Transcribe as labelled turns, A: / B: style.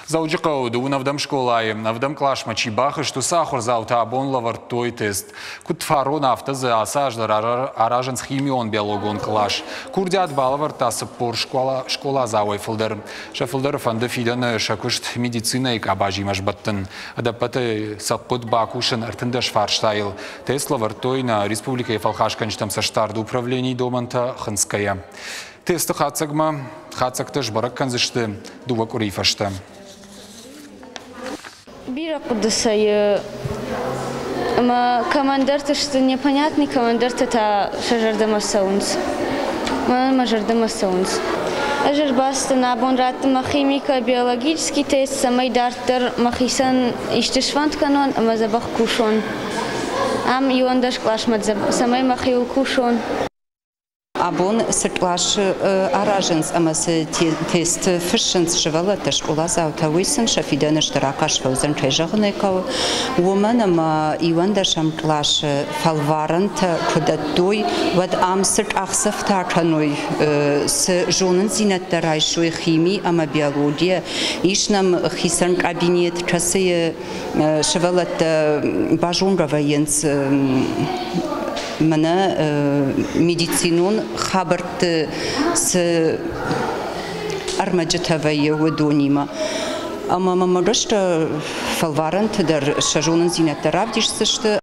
A: Дзӕуджыхъӕуы дыууын ӕвдӕм скъолайы ӕвдӕм къласмӕ чи бахызт, уыцы ахуырдзаутӕ абон лӕвӕрдтой тест. Куыд фарон, афтӕ дзы ацы аз дӕр аразынц химион-биологон кълас. Курдиат балӕвӕрдта 40 скъоладзауӕй фылдӕр. Сӕ фылдӕры фӕнды фидӕны сӕ куыст медицинӕйы къабазимӕ сбӕттын. Ӕдӕппӕтӕй сӕ хъуыд бакусын 13 фарстайыл. Тест лӕвӕрдтой нӕ республикӕйы фӕлхасгӕнджытӕм цӕстдарды управленийы домӕнтӕ хынцгӕйӕ. Тесты хатдзӕгмӕ хатдзӕгтӕ сбӕрӕг кӕндзысты дыууӕ къуырийы фӕстӕ.
B: Бирӕ хъуыды сӕйы ӕмӕ кӕмӕндӕрты сты непонятный, кӕмӕндӕрты та сӕ зӕрдӕмӕ цӕуынц. Мӕнӕн мӕ зӕрдӕмӕ цӕуынц. Ӕз ӕрбацыдтӕн абон радтын мӕ химико-биологический тест, цӕмӕй дарддӕр мӕхицӕн исты сфӕнд кӕнон ӕмӕ дзӕбӕх кусон. Ам иуӕндӕс къласмӕ цӕмӕй мӕхиуыл кусон.
C: Абон цы къласы аразынц ӕмӕ цы тесты фыссынц сывӕллӕттӕ, скъоладзаутӕ, уый сын сӕ фидӕны стыр ахъаз фӕуыдзӕн, кӕй зӕгъын ӕй хъӕуы. Уымӕн ӕмӕ иуӕндӕсӕм къласы фӕлварӕнтӕ куы дӕттой, уӕд ам цы къахдзӕфтӕ кӕной, цы зонындзинӕдтӕ райсой хими ӕмӕ биологийӕ, ис нӕм хицӕн кабинет, кӕцыйы сывӕллӕттӕ базонгӕ вӕййынц мӕнӕ медицинон хабӕртты цы ӕрмӕджытӕ вӕййы, уыдонимӕ. Ӕмӕ мӕм гӕсгӕ фӕлварӕнты дӕр сӕ зонындзинӕдтӕ равдисдзысты.